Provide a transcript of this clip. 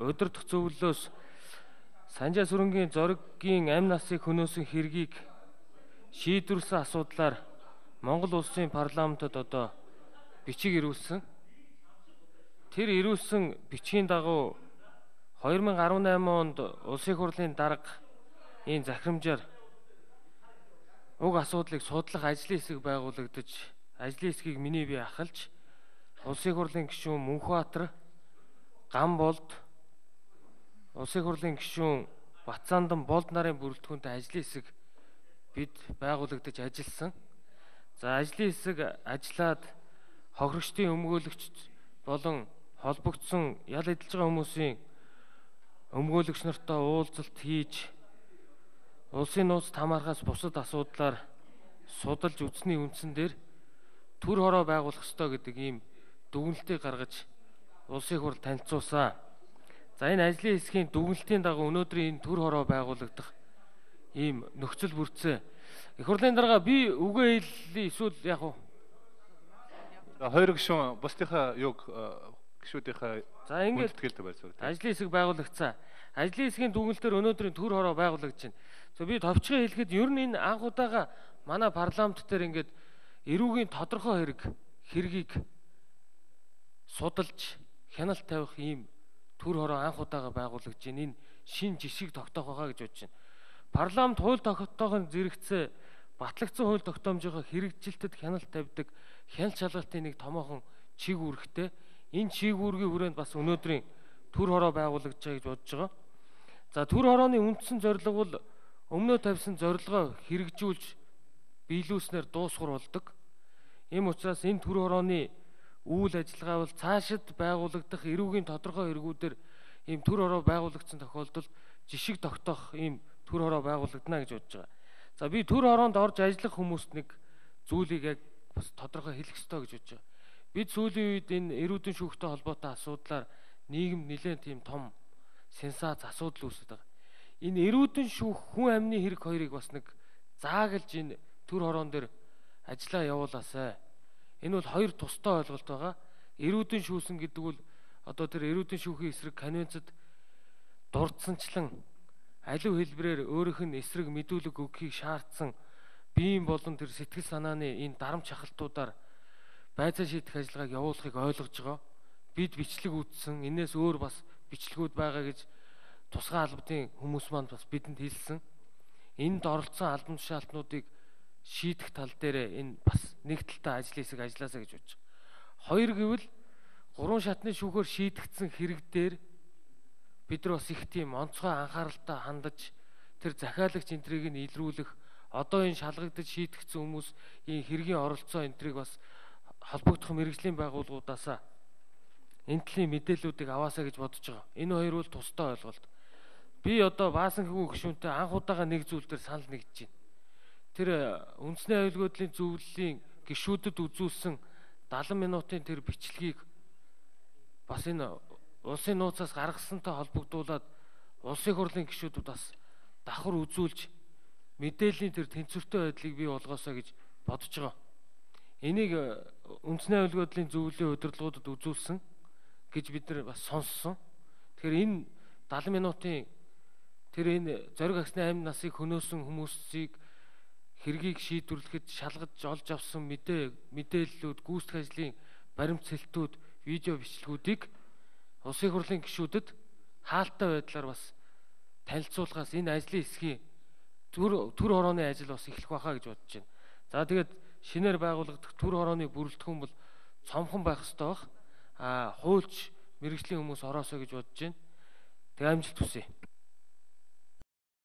удирдах зөвлөлөөс Санжаа сүрэнгийн зоригийн амь насыг хөнөөсөн хэргийг шийдвэрлсэн асуудлаар Монгол улсын парламентод одоо бичиг ирүүлсэн. Тэр ирүүлсэн бичгийн дагуу 2018 онд улсын хурлын дарга энэ захирамжаар уг асуудлыг судлах ажлын хэсэг байгуулагдаж, ажлын хэсгийг миний бие ахалж, улсын хурлын гишүүн Мөнхбаатар, Гамболд, улсын хурлын гишүүн Батцаандан Болд нарын бүрэлдэхүүнтэй ажлын хэсэг бид байгуулагдаж ажилласан. За ажлын хэсэг ажиллаад хохирогчдын өмгөөлөгч болон холбогдсон ял эдэлж байгаа хүмүүсийн өмгөөлөгч нартай уулзалт хийж улсын нууцт хамаарахаас бусад асуудлаар судалж үзсний үндсэн дээр төр хороо байгуулах ёстой гэдэг ийм дүгнэлтийг гаргаж улсын хурл танилцуулсан. За энэ ажлын хэсгийн дүгнэлтийн дагуу өнөөдрийн энэ төр хороо байгуулагдах ийм нөхцөл бүрдсэн. Их хурлын дарга би үгээ хэллээ эсвэл яг уу? Хоёр гишүүн бусдынхаа юг гишүүдийнхээ за ингээд ажлын хэсэг байгуулагдсан. Ажлын хэсгийн дүгнэлтээр өнөөдрийн төр хороо байгуулагдаж байна. За би товчхон хэлэхэд ер нь энэ анх удаага манай парламент дээр ингээд эрүүгийн тодорхой хэргийг судалж хяналт тавих ийм төр хороо анх удаага байгуулагдаж байна. Энэ шин жишгийг тогтоох байгаа гэж бодож байна. Парламент хууль тогтоохын зэрэгцээ батлагдсан хууль тогтоомжийнхоо хэрэгжилтэд хяналт тавьдаг хяналт шалгалтын нэг томоохон чиг үүрэгтэй. Энэ чиг үүргийн хүрээнд бас өнөөдрийн төр хороо байгуулагдаж байгаа гэж бодож байгаа. За төр хорооны үндсэн зорилго бол өмнөө тавьсан зорилгоо хэрэгжүүлж биелүүлснээр дуусгар болдог. Ийм учраас энэ төр хорооны үйл ажиллагаа бол цаашид байгуулагдах эрүүгийн тодорхой хэрэгүүдээр ийм төр хороо байгуулагдсан тохиолдолд жишг тогтоох ийм төр хороо байгуулагдана гэж бодож байгаа. За би төр хороонд орж ажиллах хүмүүст нэг зүйлийг яг бас тодорхой хэлэх ёстой гэж бодож байгаа. Бид сүүлийн үед энэ эрүүдэн шүүхтэй холбоотой асуудлаар нийгэмд нэлээд тийм том сенсац асуудал үүсэж байгаа. Энэ эрүүдэн шүүх хүн амны хэрэг хоёрыг бас нэг заагалж энэ төр хороон дээр ажиллаа явуулаасай. Энэ бол хоёр тустай ойлголт байгаа. Эрүүдэн шүүсэн гэдэг бол одоо тэр эрүүдэн шүүхийн эсрэг конвенцэд дурдсанчлан аливаа хэлбэрээр өөрийнх нь эсрэг мэдүүлэг өгөхийг шаардсан биеийн болон тэр сэтгэл санааны энэ дарамт шахалтуудаар байцаа шийдэх ажиллагааг явуулахыг ойлгож байгаа. Бид бичлэг үүссэн. Энээс өөр бас бичлэгүүд байгаа гэж тусгай албадын хүмүүс маань бас бидэнд хэлсэн. Энд оролцсон албан тушаалтнуудыг шийдэх тал дээр энэ бас нэг талтай ажлын хэсэг ажилласаа гэж бодож байгаа. Хоёр гэвэл 3 шатны шүүхээр шийдэгдсэн хэрэг дээр бид нар бас их тийм онцгой анхааралтай хандаж тэр захиалагч энтрийг нь илрүүлэх, одоо энэ шалгагдаж шийдэгдсэн хүмүүс энэ хэргийн оролцоо энтрийг бас холбогдох мэргэжлийн байгууллагуудаасаа энэ төрлийн мэдээллүүдийг аваасаа гэж бодож байгаа. Энэ хоёр бол тустай ойлголт. Би одоо Баасан хүү гишүүнтэй анх удаага нэг зүйл дээр санал нэгдэж байна. Тэр үндэсний аюулгүйдлийн зөвлөлийн гишүүдэд үзүүлсэн 70 минутын тэр бичлэгийг бас энэ улсын нууцаас гаргасантай холбогдуулаад улсын хурлын гишүүдүүд бас давхар үзүүлж мэдээллийн тэр тэнцвэртэй байдлыг бий болгоосоо гэж бодож байгаа. Энийг үндэсний аюулгүйдлийн зөвлөлийн удирдлагуудад үзүүлсэн гэж бид нар бас сонссон. Тэгэхээр энэ 70 минутын тэр энэ зориг агсны амь насыг хөнөөсөн хүмүүсийг хэргийг шийдвэрлэхэд шалгаж олж авсан мэдээллүүд, гүйцэтгэх ажлын баримт-цэлтүүд, видео бичлэгүүдийг улсын хурлын гишүүдэд хаалттай байдлаар бас танилцуулахаас энэ ажлын хэсгийн төр хорооны ажил бас эхлэх байхаа гэж бодож байна. За тэгээд шинээр байгуулагдах төр хорооны бүрэлдэхүүн бол цомхон байх ёстой бах. Хуульч мэргэжлийн хүмүүс ороосоо гэж бодож байна. Тэг амжилт хүсье.